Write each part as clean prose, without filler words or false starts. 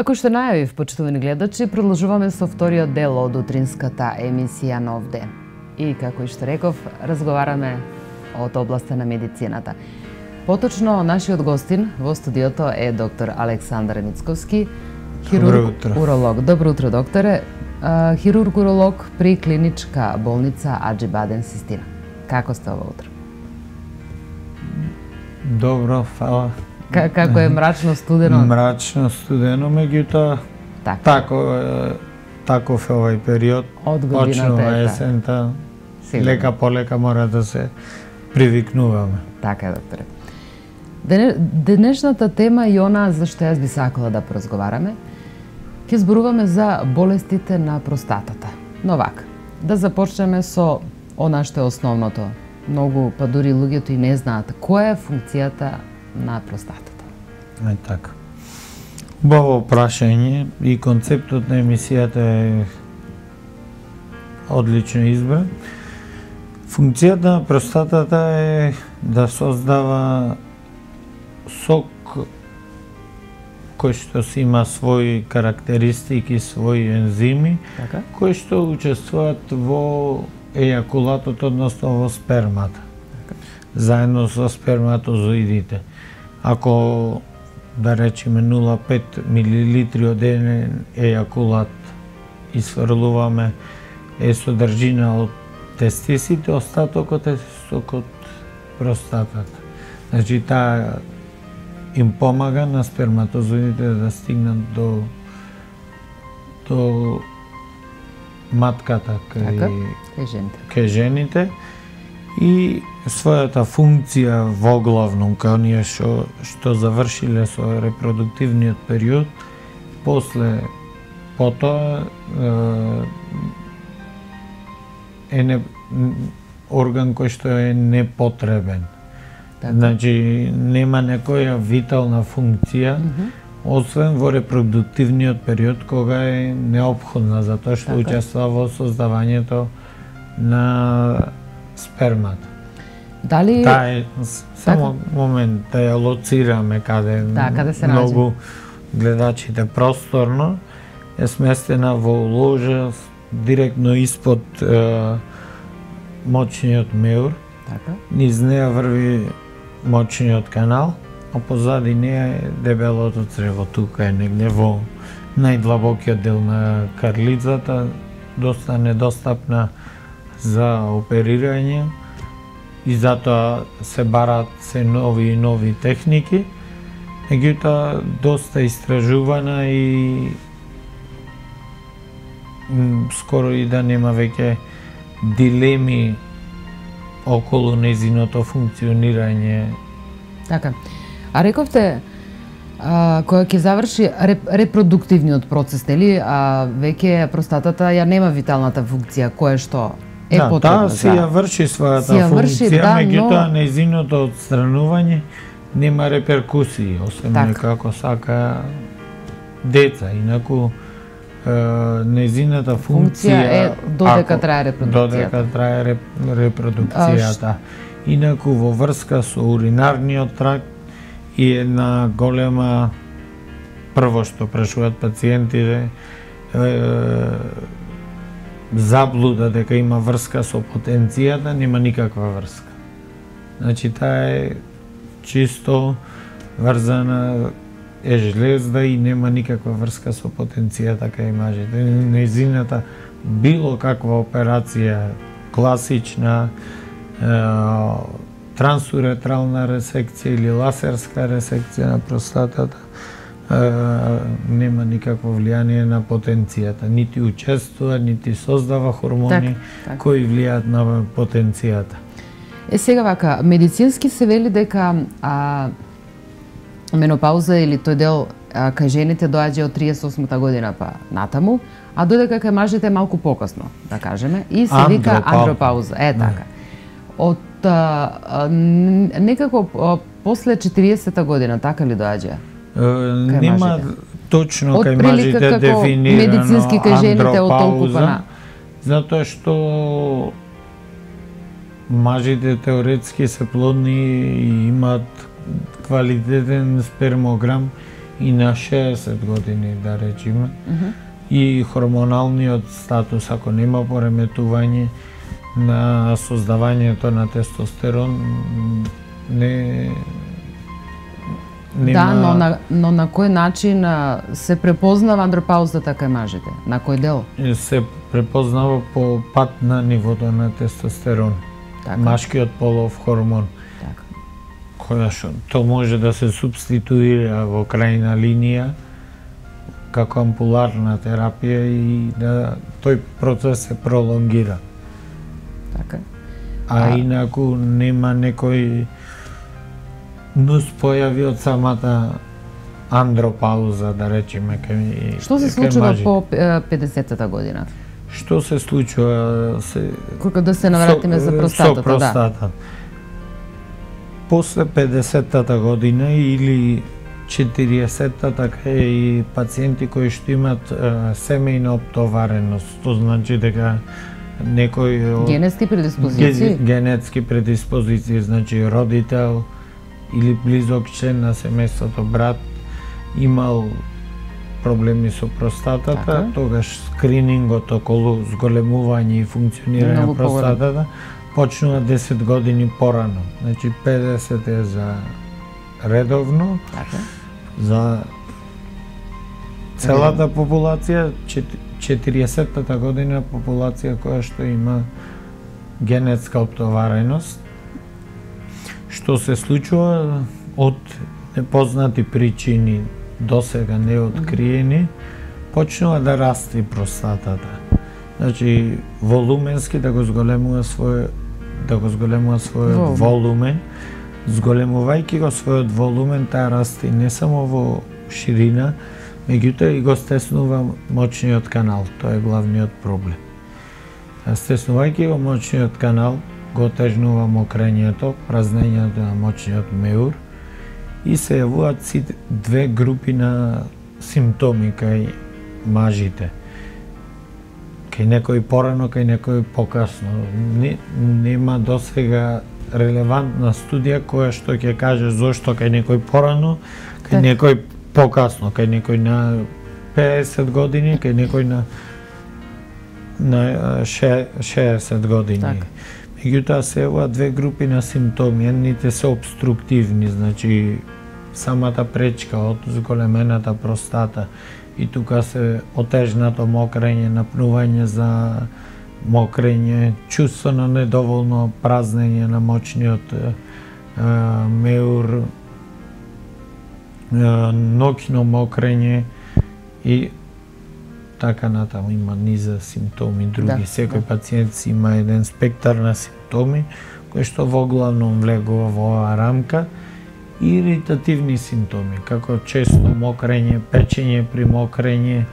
Како што најавив, почитувани гледачи, продолжуваме со вториот дел од утринската емисија Нов ден. И како и што реков, разговараме од областа на медицината. Поточно, нашиот гостин во студиото е доктор Александар Мицковски, хирург-уролог. Добро утро, докторе. Хирург-уролог при клиничка болница Аџибаден Систина. Како сте ова утро? Добро, фала. Како е мрачно, студено? Мрачно, студено, меѓутоа таков е овај период. Од годината почнува есента, лека полека мора да се привикнуваме. Така е, докторе. Денешната тема и она за што јас би сакала да поразговараме, ќе зборуваме за болестите на простатата. Но вака, да започнеме со она што е основното. Многу, па дури луѓето и не знаат која е функцијата на простатата. Така. Убаво прашање и концептот на емисијата е одлично избран. Функцијата на простатата е да создава сок кој што си има своји карактеристики, своји ензими, кои што учествуваат во ејакулатот, односно во спермата, заедно со сперматозоидите. Ако, да речеме, 0,5 мл од еден ејакулат исфрлуваме е содржина од тестисите, остатокот е сок од простатата. Значи, таа им помага на сперматозоидите да стигнат до матката кај жените и својата функција воглавно кај оние што завршиле со репродуктивниот период, потоа е орган кој што е непотребен. Значи, нема некоја витална функција, освен во репродуктивниот период, кога е неопходна, затоа што учествува во создавањето на спермата. Дали... Само момент, да ја лоцираме каде се многу гледачите просторно, е сместена во ложа директно испод мочниот меур. Низ неа врви мочниот канал, а позади неа е дебелото црево. Тука е негде во најдлабокиот дел на карлицата, доста недостапна за оперирање и затоа се бараат се нови и нови техники. Меѓутоа, доста истражувана и скоро и да нема веќе дилеми околу нејзиното функционирање. Така. А рековте, кога ќе заврши репродуктивниот процес, нели, веќе простатата ја нема виталната функција, која што е потребна. Таа си ја врши својата функција, меѓутоа нејзиното отстранување нема реперкусии, освен некако сака деца. Инаку, нејзината функција е додека трае репродукцијата. Инаку во врска со уринарниот тракт и една голема, прво што прашуваат пациентите, заблуда дека има врска со потенцијата, нема никаква врска. Значи, таа е чисто врзана, е жлезда и нема никаква врска со потенцијата кај мажите. Нејзината било каква операција, класична, трансуретрална ресекција или лазерска ресекција на простатата, нема никакво влијание на потенцијата. Нити учествува, нити создава хормони кои влијаат на потенцијата. Сега вака, медицински се вели дека менопауза или тој дел кај жените доаѓа од 38-та година па натаму, а додека кај мажите малку покасно, да кажеме, и се вика андропауза. Така. Од некако после 40-та година, така ли доаѓа? Нема точно кај мажите дефинирано медицински кај жените од толкова, затоа што мажите теоретски се плодни и имаат квалитетен спермограм и на 60 години, да речеме. И хормоналниот статус, ако нема пореметување на создавањето на тестостерон, нема... Да, но на кој начин се препознава андропаузата кај мажите? На кој дел? Се препознава по пат на нивото на тестостерон. Така. Машкиот полов хормон. Така. Која што то може да се субституира во крајна линија како ампуларна терапија и да тој процес се пролонгира. Така. А инаку нема некој нус појави од самата андропауза, да речеме, кај Што се случува по 50-та година? Што се случува? Кога да се навратиме за простатата, со простата. Да. После 50-та година или 40-та, така и пациенти кои што имат семејна оптовареност, тоа значи дека некој генетски предиспозиции, генетски предиспозиции, значи родител или близок член на семејството, брат, имал проблеми со простатата, така. Тогаш скринингот околу зголемување и функционирање на простатата почнува 10 години порано. Значи 50 е за редовно, така. За целата популација, 40-та година популација која што има генетска оптовареност. Што се случува од непознати причини досега неоткриени, почнува да расте простатата. Значи волуменски да го зголемува својот волумен, зголемувајќи го својот волумен, таа расте не само во ширина, меѓутоа и го стеснува мочниот канал. Тоа е главниот проблем. Стеснувајќи го мочниот канал, го отежнува мокрењето, празнењето на мочниот меур и се јавуваат две групи на симптоми кај мажите. Кај некој порано, кај некој покасно. Нема досега релевантна студија која што ќе каже зошто кај некој порано, кај некој покасно, кај некој на 50 години, кај некој на 60 години. Так. Меѓутоа се ова две групи на симптоми, едните се обструктивни, значи самата пречка од зголемената простата и тука се отежнато мокрење, напнување за мокрење, чувство на недоволно празнење на мочниот меур, ноќно мокрење и така натаму. Има низа симптоми, други. Секој пациент си има еден спектар на симптоми, кои што воглавном влегува во оваа рамка. Иритативни симптоми, како често мокрење, печење при мокрење,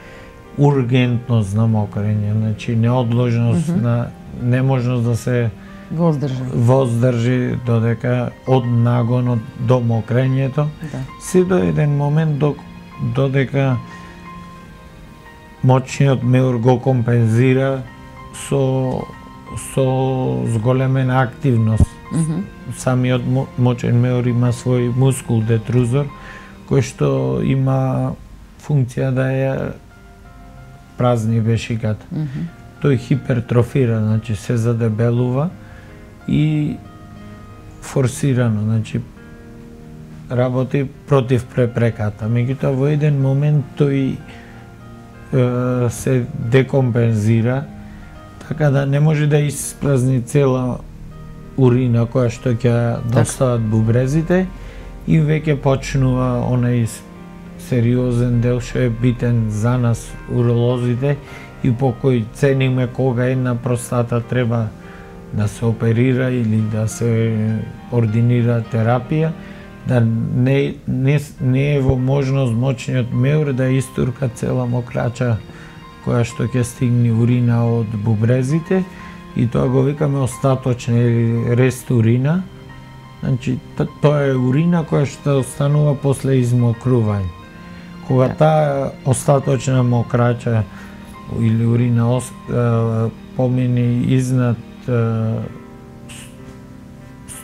ургентност на мокрење, значи неодложност на неможност да се воздржи додека од нагонот до мокрењето, се до еден момент додека мочниот меур го компензира со зголемена активност. Самиот мочен меур има свој мускул детрузор, кој што има функција да ја празни вешиката. Тој хипертрофира, значи се задебелува и форсирано, значи работи против препреката. Меѓутоа во еден момент тој се декомпензира, така да не може да испразни цела урина која што ќе достават бубрезите и веќе почнува онај сериозен дел што е битен за нас уролозите и по кој цениме кога една простата треба да се оперира или да се ординира терапија, да не е во можност мочниот меур да истурка цела мокрача која што ќе стигне урина од бубрезите и тоа го викаме остаточна или рест урина. Значи тоа е урина која што останува после измокрување. Кога таа остаточна мокрача или урина помине изнад 100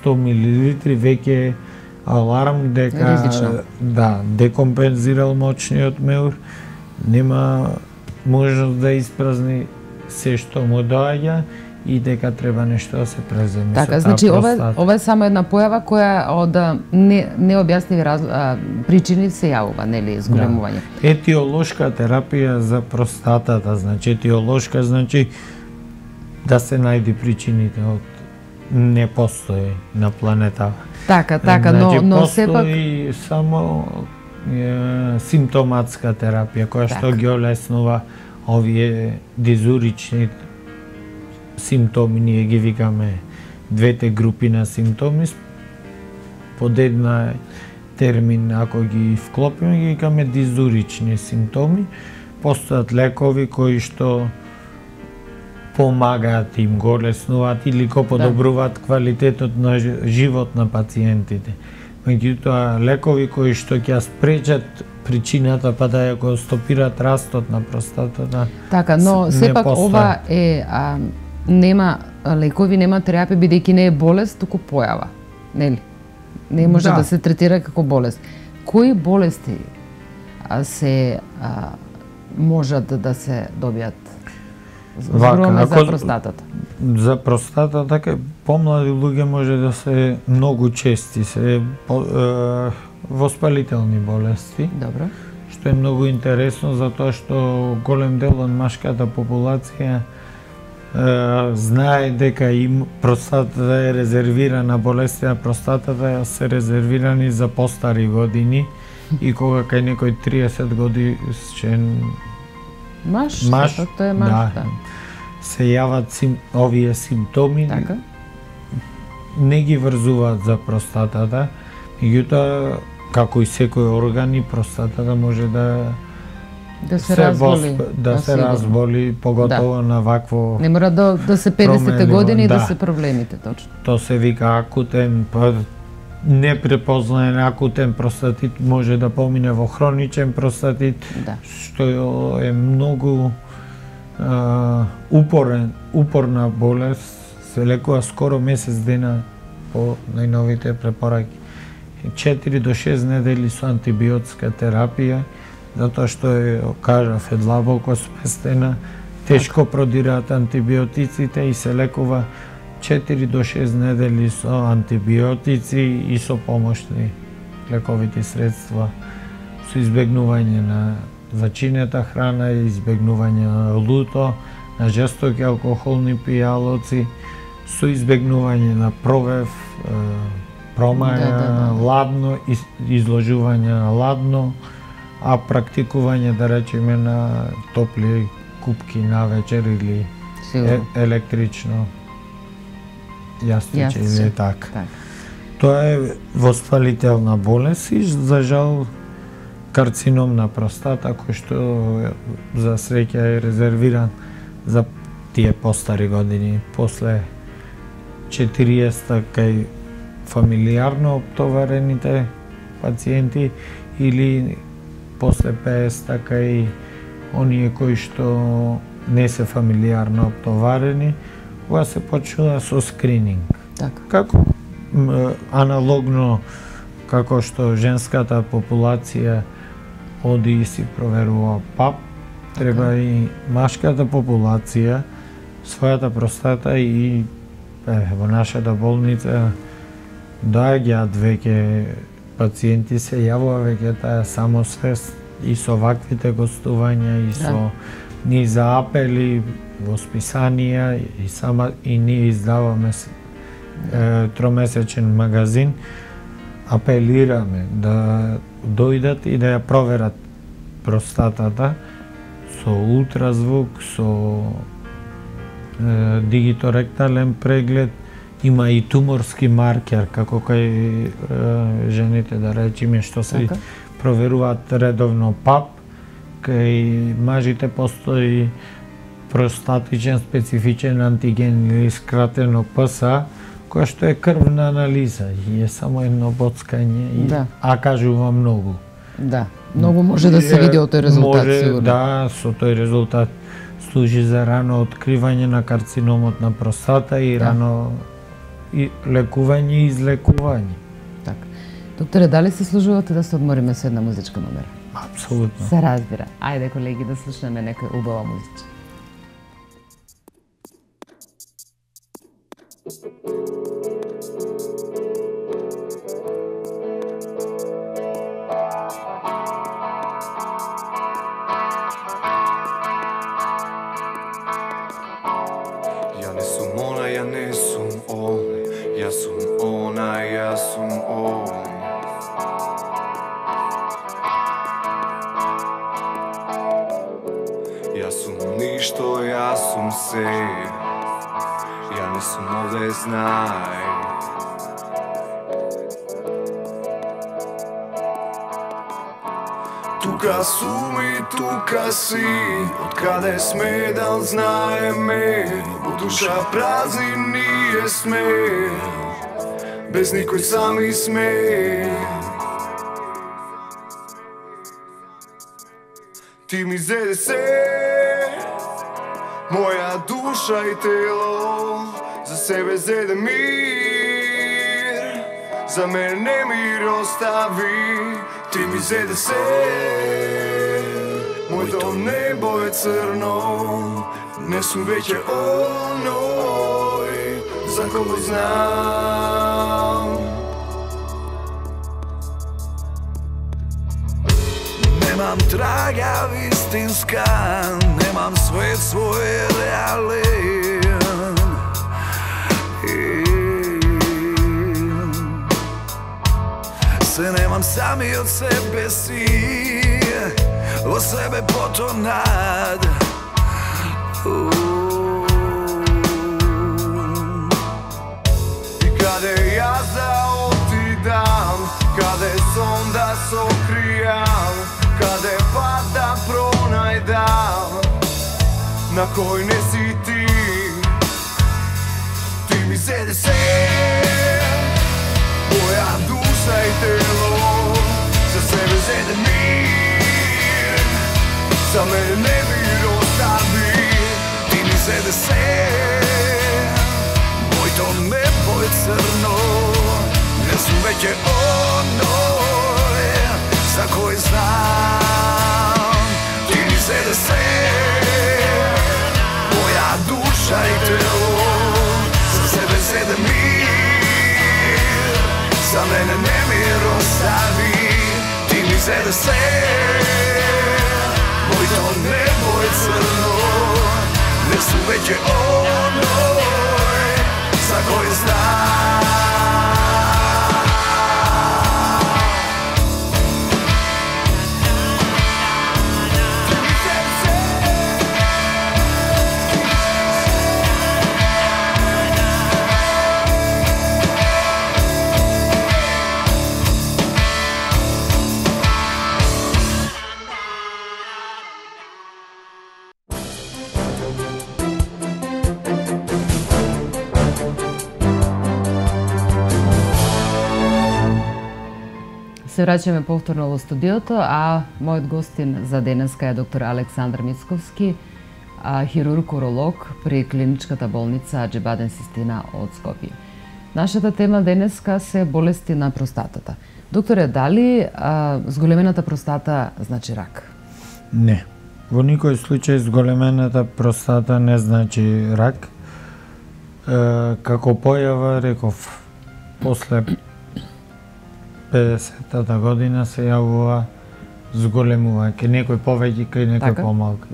мл, веќе аларм дека Ризично. да, декомпензирал моќниот меур, нема можност да испразни се што му доаѓа и дека треба нешто да се преземе. Така, значи ова е само една појава која од необјасниви причини се јавува, нели, зголемување. Да. Етиолошка терапија за простатата, значи етиолошка значи да се најди причините од не постои на планета. Така, значи, но сепак постои само симптоматска терапија која што ги олеснува овие дизурични симптоми, ние ги викаме двете групи на симптоми, под една термин, ако ги вклопиме, ги викаме дизурични симптоми. Постојат лекови кои што помагаат, им го олеснуваат или го подобруваат квалитетот на живот на пациентите. Меѓутоа, лекови кои што ќе спречат причината па да ја го стопираат растот на простатата. Така, но сепак ова е нема лекови, нема терапија бидејќи не е болест, туку појава, нели? Не може да се третира како болест. Кои болести се можат да се добијат? Зборуваме за простатата. За простатата, помлади луѓе може да се многу чести, се воспалителни болести. Добро. Што е многу интересно, затоа што голем дел од машката популација знае дека им простатата е резервирана, болести на простатата се резервирани за постари години и кога кај некој 30 годишен Маш, тоа е маш, да. Се јават овие симптоми, така? Не ги врзуваат за простатата, меѓутоа, како и секој орган, и простатата може да се разболи. Да се разболи, поготово на вакво. Не мора да се 50-те години да се проблемите, точно. Тоа се вика акутен, непрепознаен акутен простатит може да помине во хроничен простатит, што е многу упорна болест, се лекува скоро месец дена по најновите препораки. 4 до 6 недели со антибиотска терапија, затоа што кажав, е длабоко сместена, тешко продираат антибиотиците и се лекува 4 до 6 недели со антибиотици и со помошни лековити средства, со избегнување на зачинета храна, избегнување на луто, на жестоки алкохолни пијалоци, со избегнување на провев, промаја, ладно, изложување на ладно, а практикување, да речеме, на топли купки на вечер или електрично јастиче или така. Тоа е воспалителна болест и, за жал, карцином на простата, кој што за среќа е резервиран за тие постари години. После 40 кај фамилиарно оптоварените пациенти или после 50 кај оние кои што не се фамилиарно оптоварени, кога се почнува со скрининг. Така. Како аналогно како што женската популација оди и си проверува ПАП, треба и машката популација својата простата и во нашата болница доаѓаат веќе пациенти, се јавува веќе таа самосвест и со ваквите гостувања и со низ апели во списанија и ние издаваме тромесечен магазин, апелираме да дојдат и да ја проверат простатата со ултразвук, со дигиторектален преглед, има и туморски маркер, како кај жените, да речеме, што се проверуваат редовно ПАП, кај мажите постои простатичен специфичен антиген или скратено ПСА, која што е крвна анализа и е само едно боцкање, а кажува многу. Да, многу може да се види од тој резултат, сигурно. Да, со тој резултат служи за рано откривање на карциномот на простата и рано лекување и излекување. Така. Докторе, дали се служувате да се одмориме со една музичка номера? Апсолутно. Се разбира. Ајде, колеги, да слушнеме некоја убава музичка. Ја не сум она, ја не сум он, ја сум она, ја сум он. Ја сум ништо, ја сум се, ја не сум овде, знај. Тука сум и тука си, од каде сме да знаеме, во душа празни ние сме, без никој сами сме. Ти ми зеде се, моја душа и тело, за себе зеде мир, за мене не мир остави. Ти ми зеде се, моето небо е црно, не сум веќе оној за кого знам. Немам трага вистинска, немам свет свој реален. Се немам сами од себе си, во себе потонат. И каде јас да отидам, каде сон да сокријам, каде пат да пронајдам, на кој не си ти. Ти ми зеде се, моја душа и тело, за себе зеде мир, за мене не мир остави. Ти ми зеде се, моето небо е црно, не сум веќе оној за кој знам. Ти ми зеде се, моја душа и тело, за себе зеде мир, за мене не мир остави. Ти ми зеде се, моето небо е црно, не сум веќе оној за кој знам. Се враќаме повторно во студиото, а мојот гостин за денеска е доктор Александар Мицковски, хирург-уролог при клиничката болница Аџибаден Систина од Скопје. Нашата тема денеска се болести на простатата. Докторе, дали зголемената простата значи рак? Не. Во никој случај зголемената простата не значи рак. Како појава, реков, после 50-та година се јавува зголемува, ке некој повеќе, ке некој помалку.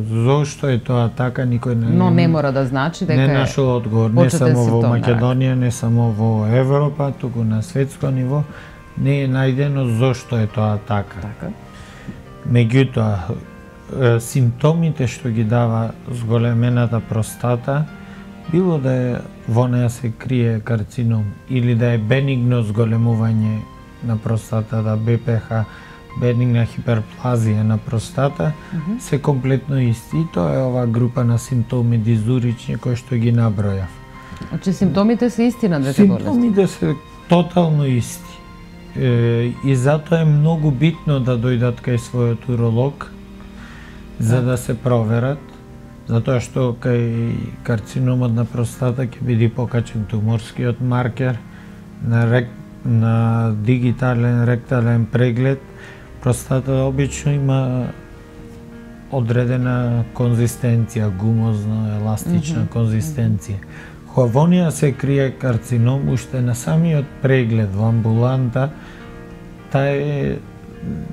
Зошто е тоа така, никој не... Но не мора да значи дека не нашол одговор, не само во Македонија, не само во Европа, туку на светско ниво, не е најдено зошто е тоа така. Меѓутоа, симптомите што ги дава зголемената простата, било да е во неја се крие карцином или да е бенигно зголемување на простатата, БПХ, бенигна хиперплазија на простата, се комплетно исти. Тоа е оваа група на симптоми дизурични кои што ги набројав. Значи симптомите се исти на двете болести? Симптомите се тотално исти. И затоа е многу битно да дојдат кај својот уролог за да се проверат, затоа што кај карциномот на простата ќе биде покачен туморскиот маркер на на дигитален ректален преглед простатата обично има одредена конзистенција, гумозна, еластична конзистенција. Кога во неа се крие карцином, уште на самиот преглед во амбуланта,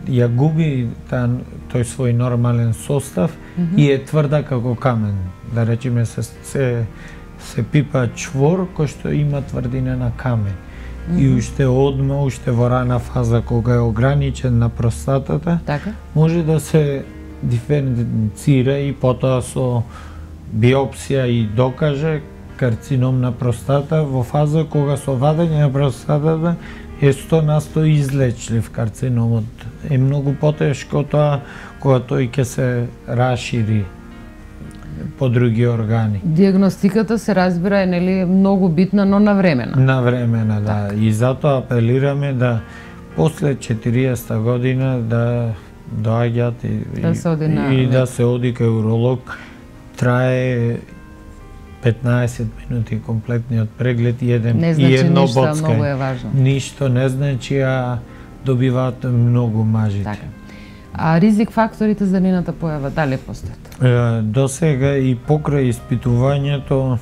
ја губи тој свој нормален состав и е тврда како камен. Да речеме се пипа чвор кој што има тврдина на камен. И уште одма, уште во рана фаза кога е ограничен на простатата, може да се диференцира и потоа со биопсија и докаже карцином на простата во фаза кога со вадење на простатата е 100% излечлив карциномот. Е многу потешко тоа кога тој ќе се расшири по други органи. Диагностиката се разбира е нели многу битна, но навремена. Навремена, да. И затоа апелираме да после 40 година да доаѓаат и да се оди кај уролог. Трае 15 минути комплетниот преглед и едно боцкај. Ништо не значи, а добиваат многу мажите. Така. А ризик факторите за нейната појава дали постојат? До сега и покрај испитувањето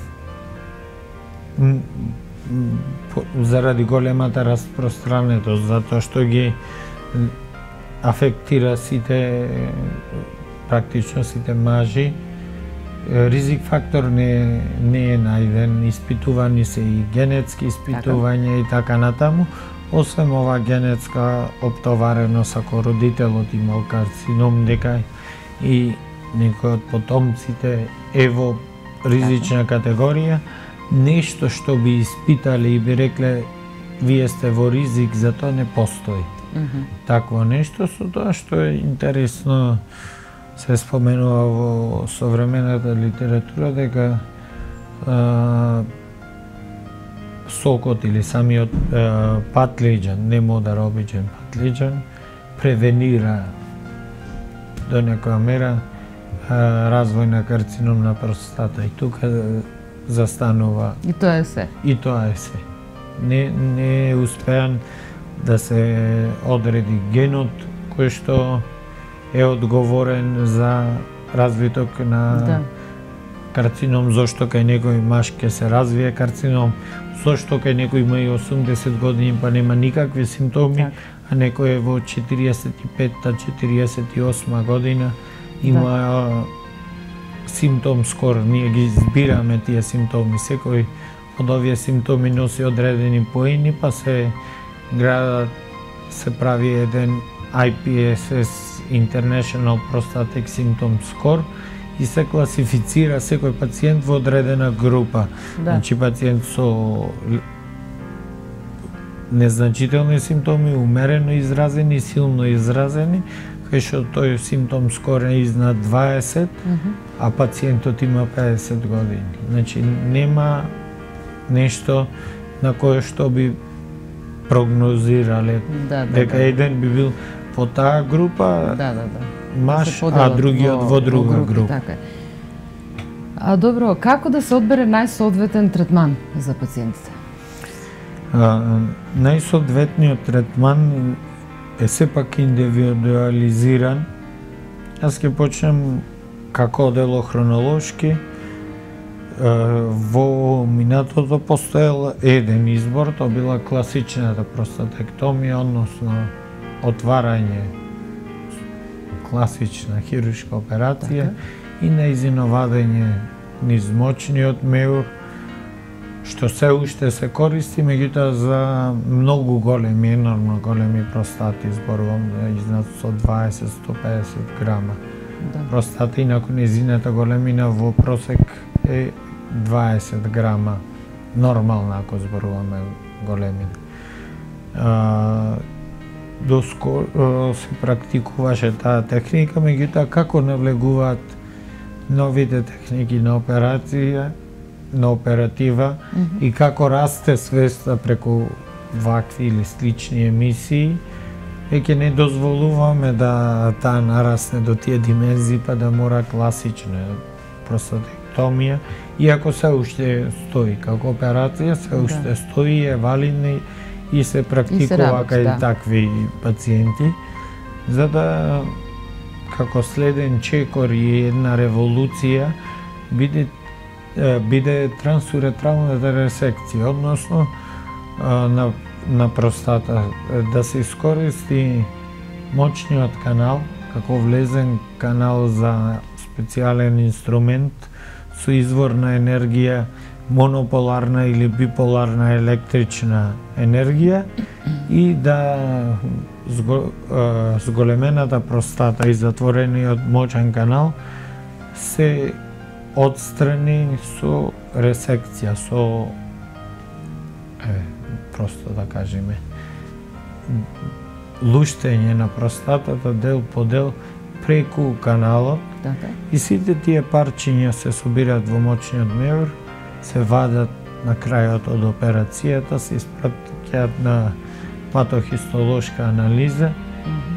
заради големата распространетост, затоа што ги афектира практично сите мажи, ризик фактор не е најден. Испитувани се и генетски испитувања и така натаму. Освен ова генетска оптовареност, ако родителот имал карцином, дека и некој од потомците е во ризична категорија, нешто што би испитали и би рекле вие сте во ризик, за тоа не постои. Такво нешто, со тоа што е интересно се споменува во современата литература дека сокот или самиот патлиџан, не модар обичен патлиџан, превенира до некоја мера развој на карцином на простата. И тука застанува. И тоа е се. И тоа е се. Не е успеан да се одреди генот кој што е одговорен за развиток на карцином, зошто кај некој маж ќе се развие карцином, зошто кај некој има и 80 години па нема никакви симптоми, а некој е во 45-та, 48 година има симптом скор. Ние ги збираме тие симптоми. Секој од овие симптоми носи одредени поени, па се градат, се прави еден IPSS International Prostatic Symptom Score и се класифицира секој пациент во одредена група. Значи пациент со незначителни симптоми, умерено изразени, силно изразени, кај што тој симптом скор е изнад 20, а пациентот има 50 години. Значи нема нешто на кое што би прогнозирале дека еден би бил во таа група маж, а другиот во друга група. Така. А добро, како да се одбере најсоодветен третман за пациентите? Најсоодветниот третман е сепак индивидуализиран. Јас ќе почнем како дело хронолошки. Во минатото постоел еден избор, тоа била класичната простатектомија, односно отварање, класична хируршка операција и нејзино вадење низ мочниот меур, што се уште се користи, меѓутоа за многу големи, енормно големи простати, зборувам изнад 120-150 грама. Простата, инаку нејзината големина во просек е 20 грама, нормална ако зборуваме големина. Доскоро се практикуваше таа техника, меѓутоа како навлегуваат новите техники на операција, на оператива и како расте свеста преку вакви или слични емисии, веќе не дозволуваме да таа нарасне до тие димензии па да мора класична простатектомија, иако се уште стои како операција, се уште стои, е валидна и се практикува кај такви пациенти, за да како следен чекор и една револуција биде трансуретралната ресекција, односно на простата, да се искористи мочниот канал како влезен канал за специјален инструмент со извор на енергија, монополарна или биполарна електрична енергија и да зголемената простата и затворениот мочен канал се отстрани со ресекција, со просто да кажеме луштење на простатата дел по дел преку каналот. И сите тие парчиња се собираат во мочниот меур, се вадат на крајот од операцијата, се испратуваат на патохистолошка анализа.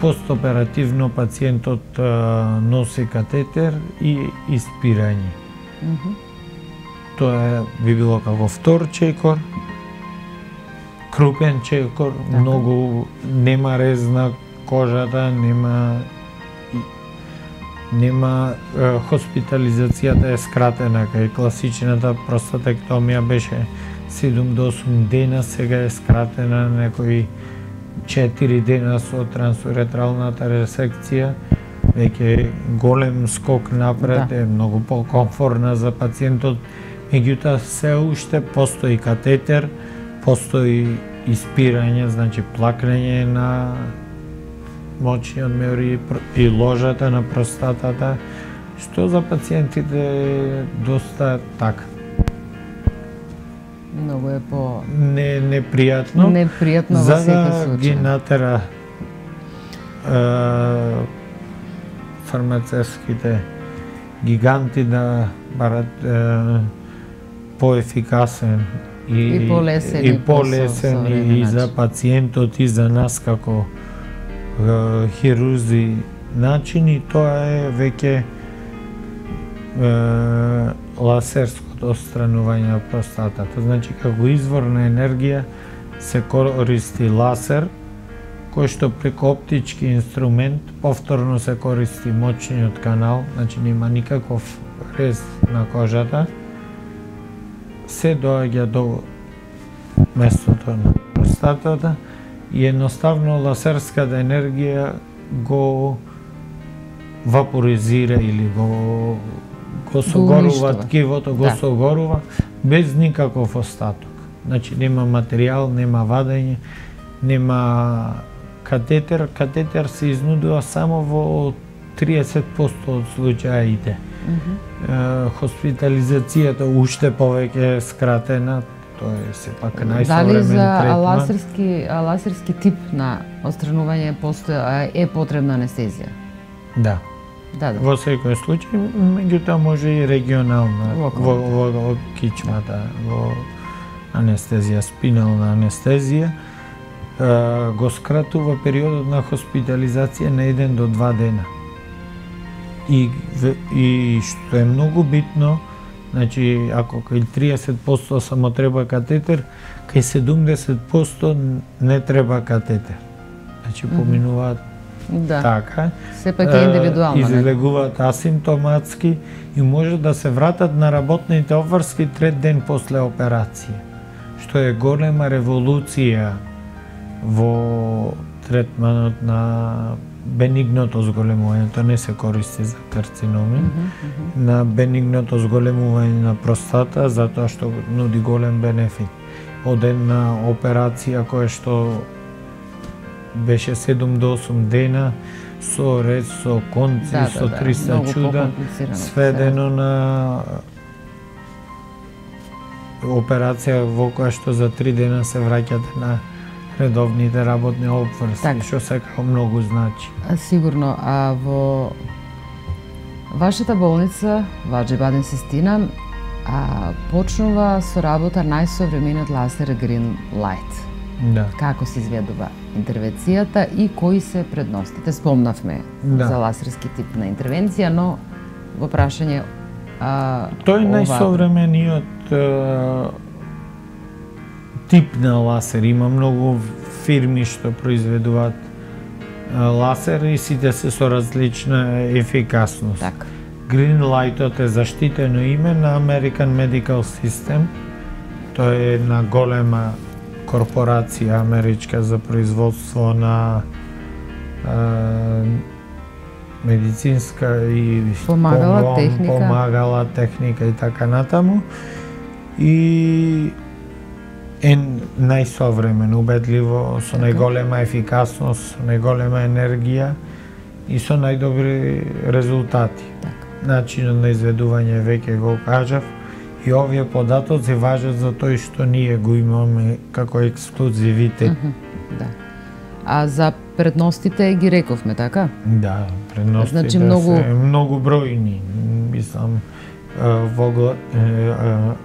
Постоперативно пациентот носи катетер и испирање. Тоа би било како втор чекор, крупен чекор, многу нема рез на кожата, нема хоспитализацијата е скратена, кај класичната простатектомија беше 7 до 8 дена, сега е скратена некои 4 дена со трансуретралната ресекција, веќе голем скок напред, е многу покомфорна за пациентот, меѓутоа се уште постои катетер, постои испирање, значи плакнење на мочниот меур и ложата на простатата, што за пациентите е доста така. Многу е по непријатно. Непријатно во секој случај. За да ги натера фармацевските гиганти да барат поефикасен и полесен и за пациентот и за нас како хирурзи начин, и тоа е веќе лазерското отстранување на простатата. Значи, како извор на енергија се користи лазер, кој што преку оптички инструмент повторно се користи мочниот канал, значи нема никаков рез на кожата, се доаѓа до местото на простатата и едноставно лазерската енергија го вапоризира или го согорува ткивото, го согорува без никаков остаток. Значи нема материјал, нема вадење, нема катетер. Катетер се изнудува само во 30% од случаите. Хоспитализацијата уште повеќе е скратена, тоа е сепак најсовремен третман. Дали за лазерски тип на отстранување е потребна анестезија? Да. Во секој случај, меѓутоа може и регионална, во кичмата, во анестезија, спинална анестезија, го скратува периодот на хоспитализација на 1 до 2 дена. И што е многу битно, значи ако кај 30% само треба катетер, кај 70% не треба катетер. Значи поминуваат така, сепак е индивидуално, излегуваат асимптоматски и може да се вратат на работните обврски 3 ден после операција, што е голема револуција во третманот на бенигното зголемување. Тоа не се користи за карциноми, на бенигното зголемување на простата, затоа што нуди голем бенефит. Од една операција која што беше 7 до 8 дена, со рез, со конци, со 300 чуда, сведено на операција во која што за 3 дена се враќате на редовните работни обврски, што секако многу значи. Сигурно, а во вашата болница, Ваџи Бадем Систина, почнува со работа најсовремениот лазер Green Light. Да. Како се изведува интервенцијата и кои се предностите? Спомнавме за лазерски тип на интервенција, но во прашање тој е најсовремениот тип на ласер. Има многу фирми што произведуваат ласер и сите се со различна ефикасност. Така. Greenlightот е заштитено име на American Medical System. Тоа е една голема корпорација америчка за производство на медицинска и помагала техника и така натаму. И е најсовремено, убедливо, со најголема ефикасност, со најголема енергија и со најдобри резултати. Начинот на изведување веќе го кажав и овие податоци важат за тој што ние го имаме како ексклузивитет. Да. А за предностите ги рековме, така? Да, предностите значи, многу бројни. Мислам,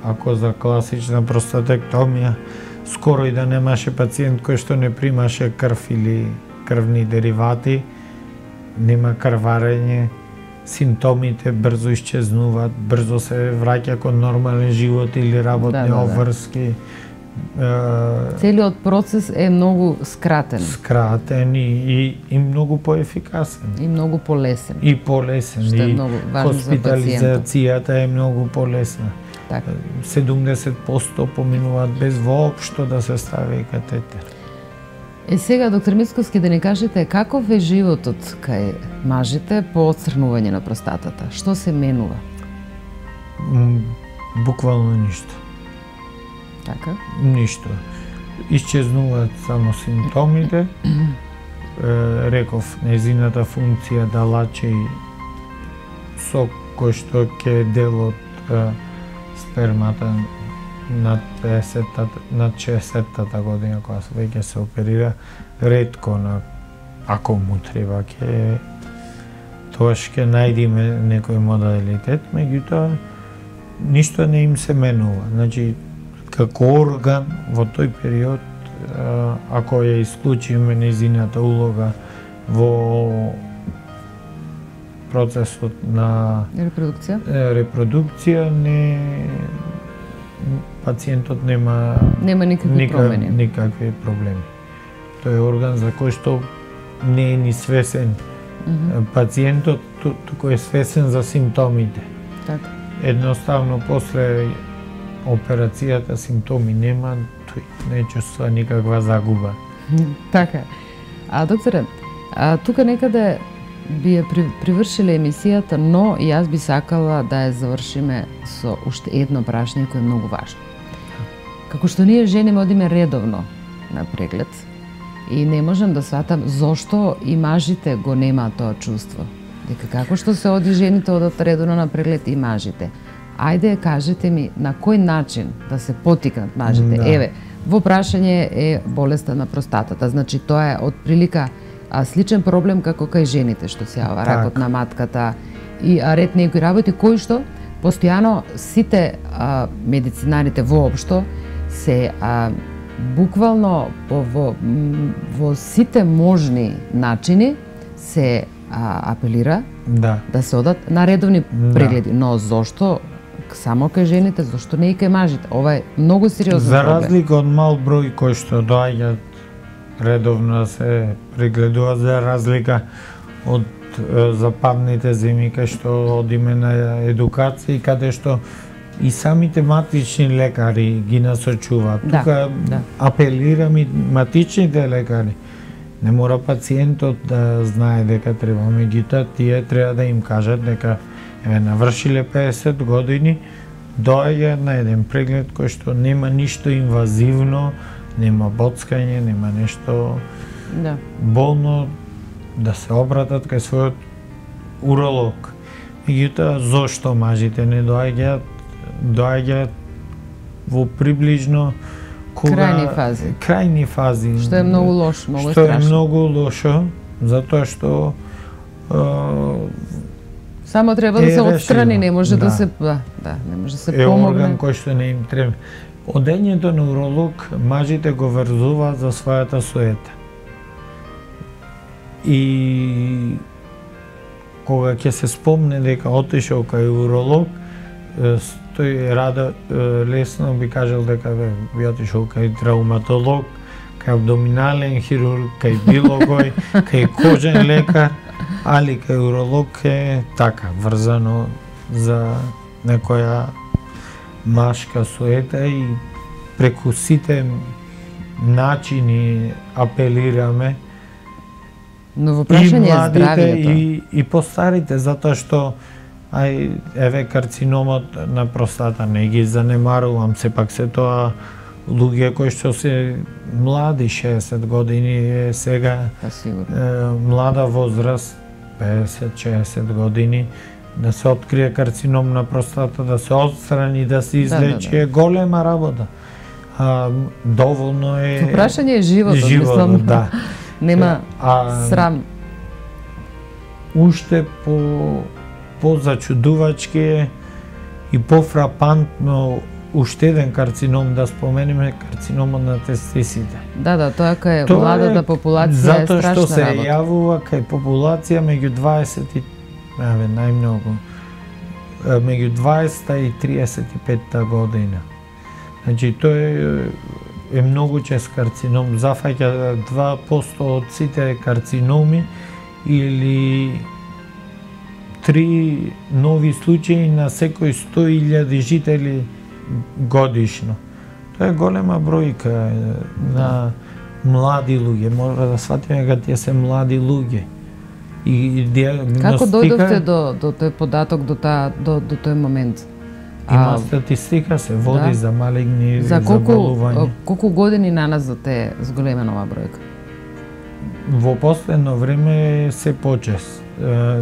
ако за класична простатектомија скоро и да немаше пациент кој што не примаше крв или крвни деривати, нема крварење, симптомите брзо исчезнуваат, брзо се враќа кон нормален живот или работни обврски. Целиот процес е многу скратен. Скратен и многу поефикасен. И многу полесен. И полесен. Што е многу важно за пациентот. Хоспитализацијата е многу полесна. Така. 70% поминуваат без воопшто да се стави катетер. Сега, доктор Мицковски, да ни кажете каков е животот кај мажите по отсрнување на простатата? Што се менува? Буквално ништо. Така? Ништо. Исчезнуваат само симптомите. Реков, незината функција да лачи сок кој што ќе дел од спермата над 60-та година, кога веќе се оперира, ретко ако му треба тогаш ќе најдеме некој модалитет, меѓутоа ништо не им се менува. Значи, како орган во тој период, ако ја исклучиме незината улога во процесот на репродукција, пациентот нема никакви проблеми. Тој е орган за кој што не е ни свесен пациентот, туку е свесен за симптомите. Така. Едноставно после операцијата симптоми нема, тој не чувствува никаква загуба. Така. Докторе, тука некаде би ја привршиле емисијата, но и јас би сакала да ја завршиме со уште едно прашање кое е многу важно. Како што ние жени одиме редовно на преглед и не можам да сватам зошто и мажите го немаат тоа чувство. Дека како што се оди жените одат редовно на преглед и мажите. Ајде, кажете ми на кој начин да се потикнат мажите. Да. Еве, во прашање е болеста на простатата. Значи тоа е од прилика сличен проблем како кај жените што се јава ракот на матката и ред некои работи кои што постојано сите медицинарите воопшто се буквално во сите можни начини се апелира да се одат на редовни прегледи. Но зошто само кај жените, зошто не и кај мажите? Ова е многу сериозен проблем. За разлика од мал број кои што доаѓаат редовно се прегледува, за разлика од западните земји кај што одиме на едукација, каде што и самите матични лекари ги насочуваат. Тука апелирам и матичните лекари. Не мора пациентот да знае дека треба, меѓутоа тие треба да им кажат дека навршиле 50 години, доаѓа на еден преглед кој што нема ништо инвазивно, нема боцкање, нема нешто болно, да се обратат кај својот уролог. Меѓутоа, зошто мажите не доаѓаат? Доаѓаат во приближно крајни фази. Што е многу лошо, многу страшно. Што е многу лошо, затоа што само треба да се отстрани, не може да се не може да се помогне. Е орган кој што не им треба. Одењето на уролог мажите го врзуваат за својата суета. И кога ќе се спомне дека отишол кај уролог, тој рада лесно би кажал дека би отишол кај травматолог, кај абдоминален хирург, кај било кој, кај кожен лекар, али кај уролог е така, врзано за некоја машка суета и преку сите начини апелираме Но во прашање и младите здравието. и постарите, затоа што еве карциномот на простата не ги занемарувам, сепак се тоа луѓе кои што се млади, 60 години е сега млада возраст, 50-60 години, да се открие карцином на простата, да се отстрани, да се излечи, е голема работа. Доволно е... Во прашање е животот, мислам. Да. Нема срам. Уште по-зачудувачки е и по-фрапантно уште еден карцином да споменеме, карциномот на тестисите. Да, тоа кај младата популација е страшна работа. Затоа што се јавува кај популација меѓу 20 и најмногу меѓу 20 и 35 година. Значи тој е многу чест карцином, зафаќа 2% од сите карциноми или 3 нови случаи на секој 100.000 жители годишно. Тоа е голема бројка на млади луѓе. Мора да сватиме дека тие се млади луѓе. И диагностика... Како дојдовте до тој податок, до тој момент? Има статистика, се води за малигни заболувања. Колку години наназад е зголемена оваа бројка? Во последно време се почест.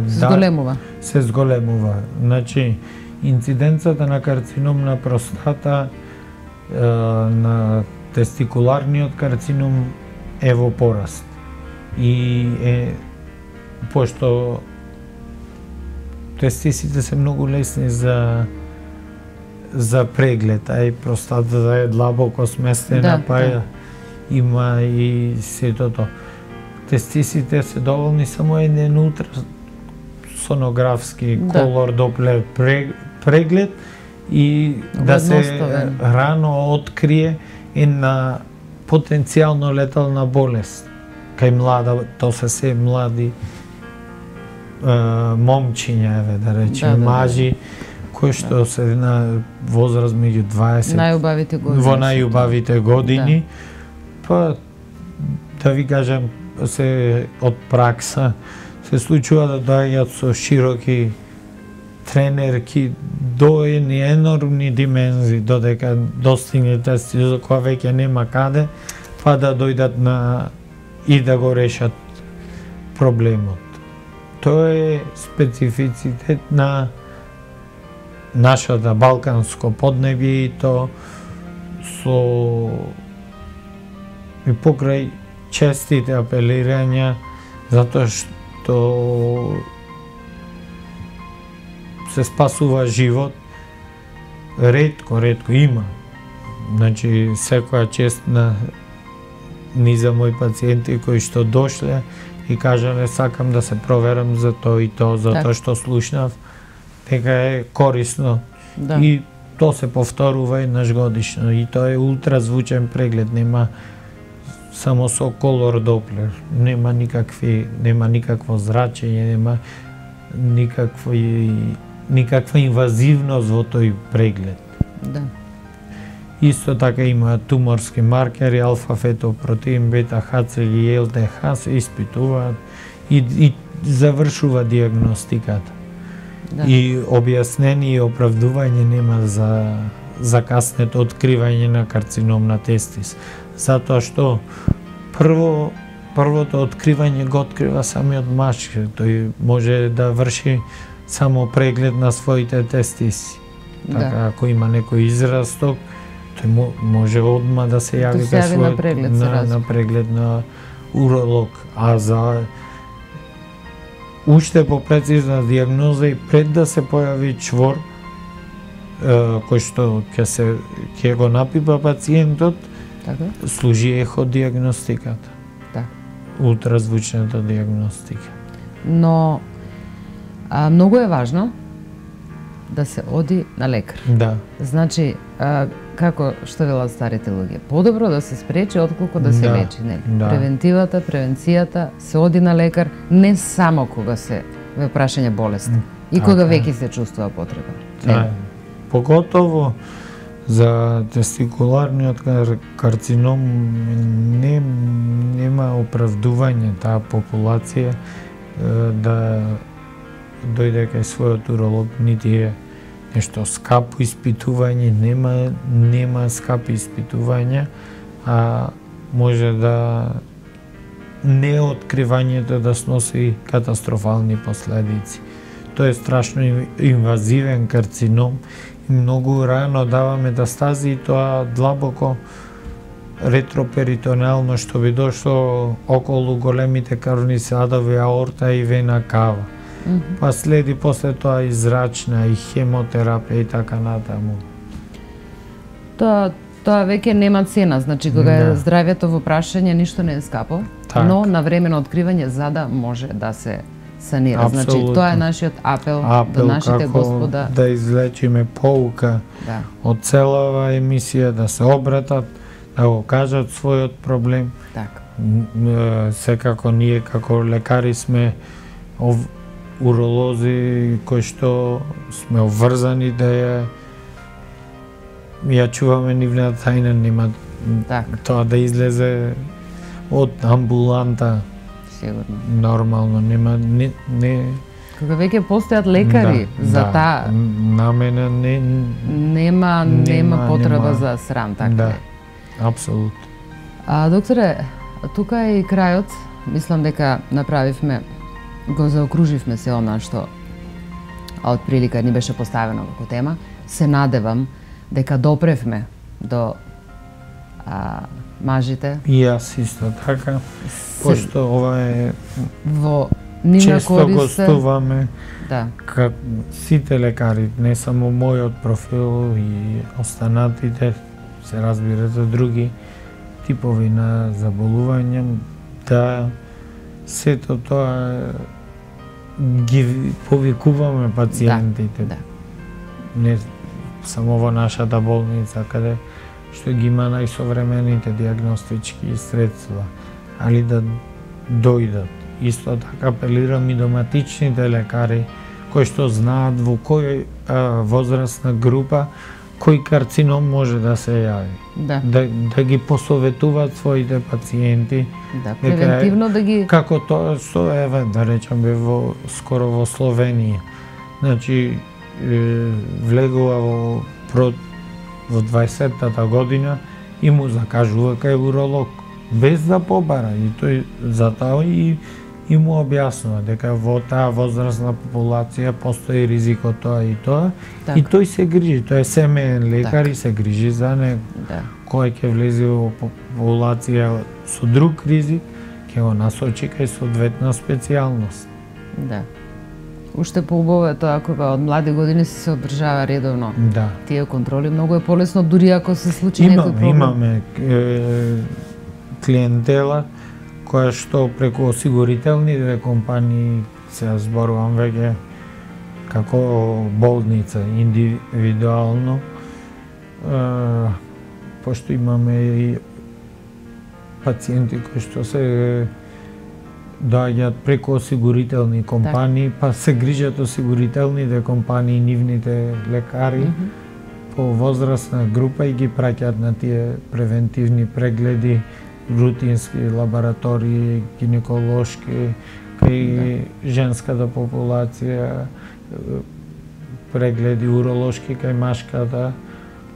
Зголемува? Се зголемува. Значи, инциденцата на карцином на простата, на тестикуларниот карцином е во пораст. И пошто тестисите се многу лесни за преглед, а и простатата е длабоко сместена, има и сетото. Тестисите се доволни само еден ултрасонографски колор доплер преглед и да се рано открие една потенцијално летална болест кај млада, тоа се млади момчиња, да речеме, мажи кои што се на возраст меѓу 20 во најубавите години, па да ви кажам, се од пракса се случува да доаѓаат со широки тренерки до енормни димензии, додека достигне тестизот која веќе нема каде, па да дојдат и да го решат проблемот. Тоа е специфицитет на нашата балканско поднебје и то и покрај честите апелирања, затоа што се спасува живот, ретко има. Значи, секоја чест ни за мои пациенти кои што дошле и кажале сакам да се проверам за тоа и тоа, затоа што слушнав дека е корисно. И тоа се повторува еднаш годишно. И тоа е ултразвучен преглед, нема само со колор доплер, нема никакво зрачење, нема никаква инвазивност во тој преглед. Исто така има туморски маркери, алфа-фетопротеин, бета-ХЦГ и ЛТХ се испитуваат и завршува диагностиката. И објаснение и оправдување нема за каснето откривање на карцином на тестис. Затоа што првото откривање го открива самиот маж, тој може да врши само преглед на своите тестиси. Така, ако има некој израсток, тој може одма да се јави на преглед на уролог, а за уште попрецизна диагноза и пред да се појави чвор кој што ќе го напипа пациентот, служи еходиагностиката. Ултразвучната диагностика. Но многу е важно да се оди на лекар. Да. Значи, како што велат старите луѓе, подобро да се спречи отколку да се лечи, нели? Да. Превенцијата, се оди на лекар не само кога се ве прашање болест, и кога веќе се чувствува потреба. Да. Поготово за тестикуларниот карцином нема оправдување таа популација да дојде кај својот уролог, нити е нешто скапо испитување, нема скапи испитувања, а може да неоткривањето да сноси катастрофални последици. Тој е страшно инвазивен карцином и многу рано дава метастази, и тоа длабоко ретроперитонеално, што би дошло околу големите крвни садови, аорта и вена кава. Па следи после тоа и зрачна, и хемотерапија и така натаму. Тоа веќе нема цена, значи кога е здравјето во прашање, ништо не е скапо, но навремено откривање за да може да се санира. Апсолутно. Значи тоа е нашиот апел до нашите господа. Да извлечиме поука од целава емисија, да се обратат, да го кажат својот проблем. Така. Секако ние како лекари сме уролози кои што сме обврзани да ја чуваме нивната тајна, нема тоа да излезе од амбуланта. Сигурно. Нормално, нема не кога веќе постојат лекари за таа, на мене нема потреба за срам, така. Да. Апсолутно. Докторе, тука е и крајот. Мислам дека направивме, го заокруживме се она што од прилика ни беше поставено како тема. Се надевам дека допревме до мажите. И јас исто така, пошто ова е во нивна често корист. Гостуваме како сите лекари, не само мојот профил и останатите, се разбира за други типови на заболувања, да сето тоа ги повикуваме пациентите. Не само во нашата болница, каде што ги има најсовремените диагностички средства, али да дојдат. Исто така апелирам и доматичните лекари кои што знаат во кој возрастна група кој карцином може да се јави. Да ги посоветуваат своите пациенти. Превентивно да ги... Како тоа што еве, да речеме, скоро во Словенија. Значи, влегува во 20-тата година и му закажува кај уролог, без да побара. И тој затоа и му објаснува дека во таа возрастна популација постои ризикот тоа и тоа. И тој се грижи, тој е семеен лекар и се грижи за него. Кој ќе влезе во популација со друг ризик, ќе го насочи кај соодветна специјалност. Да. Уште поубаво е тоа кога од млади години се одржава редовно. Тие контроли, многу е полесно дури ако се случи некој проблем. Имаме клиентела која што преку осигурителните компании, се зборувам веќе како болница, индивидуално, пошто имаме и пациенти кои што се доаѓаат преку осигурителни компании, па се грижат осигурителните компании, нивните лекари по возрастна група и ги праќаат на тие превентивни прегледи, рутински лаборатории, гинеколошки, кај женската популација, прегледи уролошки кај машката,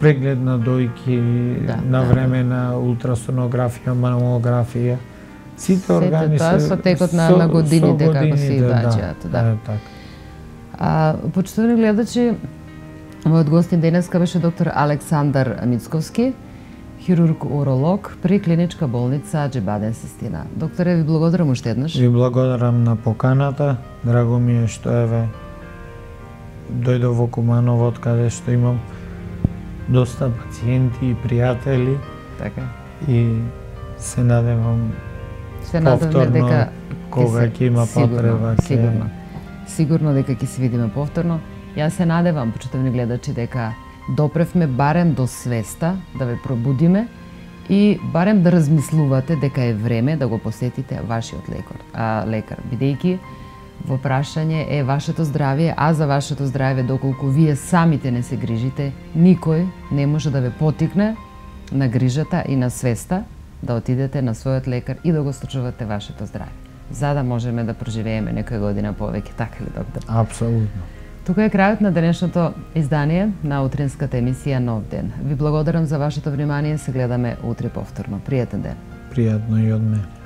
преглед на дојки, навремена ултрасонографија, мамографија. Сите органи се со текот на годините како се доаѓаат. Почитувани гледачи, мојот гостин денеска беше доктор Александар Мицковски, хирург-уролог при клиничка болница Аџибаден Систина. Докторе, ви благодарам уште еднаш. Ви благодарам на поканата. Драго ми е што еве дојдов во Куманово, од каде што имам доста пациенти и пријатели. Така. И се надевам повторно кога ќе има потреба. Сигурно дека ќе се видиме повторно. Јас се надевам, почитувани гледачи, дека допревме барем до свеста да ве пробудиме и барем да размислувате дека е време да го посетите вашиот лекар, бидејќи во прашање е вашето здравје, а за вашето здравје доколку вие самите не се грижите, никој не може да ве потикне на грижата и на свеста да отидете на својот лекар и да го случувате вашето здравје, за да можеме да проживееме некоја година повеќе, така ли, доктор? Апсолутно. Тука е крајот на денешното издание на утринската емисија Нов ден. Ви благодарам за вашето внимание, се гледаме утре повторно. Пријатен ден. Пријатно и од мене.